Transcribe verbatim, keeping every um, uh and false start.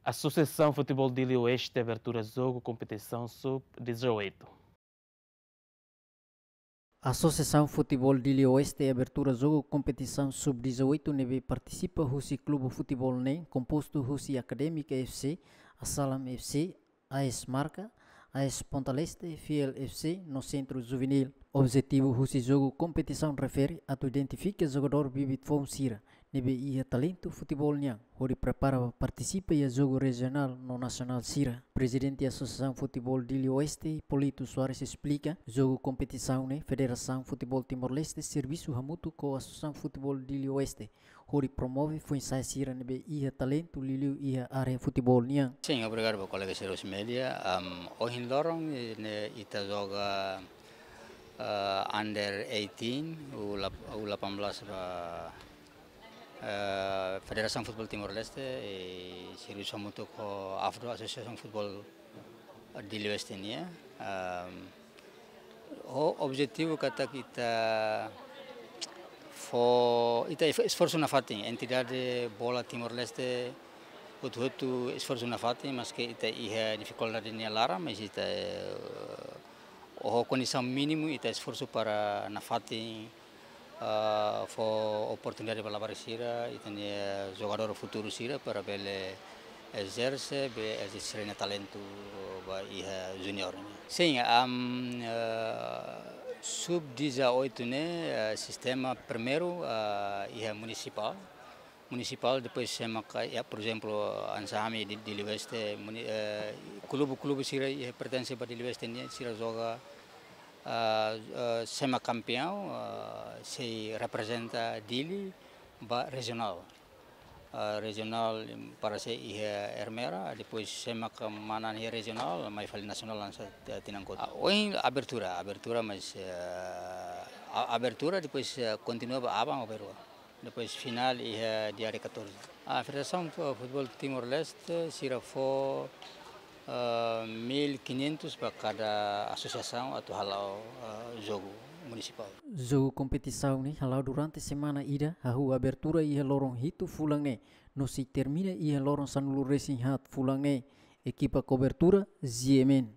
Associação Futebol Dili Oeste abertura jogo competição sub dezoito. Associação Futebol Dili Oeste abertura jogo competição sub dezoito ne'ebé partisipa husi klube futebol neen kompostu husi Académica F C, Asalam F C, A S Marca, A S Ponta Leste, Fiel F C no Sentru Juvenil. Objetivu husi jogu kompetisaun refere atu identifika jogadór bibit foun sira ne'ebé iha talentu futebol nian, hodi prepara ba partisipa iha jogu rejionál no nasionál sira. Prezidente Associação Futebol Dili Oeste, Polito Soares esplika, jogu kompetisaun ne'e Federasaun Futebol Timor-Leste servisu hamutuk ho Associação Futebol Dili Oeste hodi promove foin-sa'e sira ne'ebé iha talentu liuliu iha área futebol nian. Sin, obrigadu ba kolega sira husi média. Am, ohin loron, eh, ne'e ita joga, eh, under eighteen, U lap-, U delapan belas ba, eh, Federasaun Futebol Timor-Leste, eh, servisu hamutuk ho AFDO, Associação Futebol Dili Oeste nian. Am, ho objetivu katak ita fó, ita es-, esforsu nafatin, entidade bola Timor-Leste hotu-hotu esforsu nafatin, maske ita iha difikuldade nia laran, mas ita, eh, ho kondisaun mínimu ita esforsu para nafatin, ah, fó oportunidade ba labarik sira, ita-nia jogadór futuru sira para bele ezerse, bele ezerse sira-nia talentu ba iha juniór nian. Sin, am, ah, sub dezoito ne'e, ah, sistema primeiru, ah, iha munisipál. Munisipál, depois sé maka, ya, por ezemplu, hanesan ami di, Dili Oeste, muni-, eh, klube, klube sira iha pertense ba Dili Oeste nian, sira joga, ah, ah, sé mak kampiaun, ah, sei reprezenta Dili ba rejionál. Ah, rejionál para sé iha Ermera, depois sé mak manán iha rejionál, mai fali nasionál hanesan, eh, tinan kotuk. Ah, ohin abertura, abertura, mas, eh, a-, abertura, depois, eh, kontinua ba aban ou ba rua. Depois finál iha dia catorze. Ah, Federasaun Fu-, Futebol Timor-Leste sira fó, ah, mil quinhentos ba kada asosiasaun atu hala'o, ah, jogu munisipál. Jogu kompetisaun ne'e hala'o durante semana ida, hahú abertura iha loron hitu fulan ne'e, no sei termina iha loron sanulu-resin-haat fulan ne'e. Ekipa kobertura, G M N.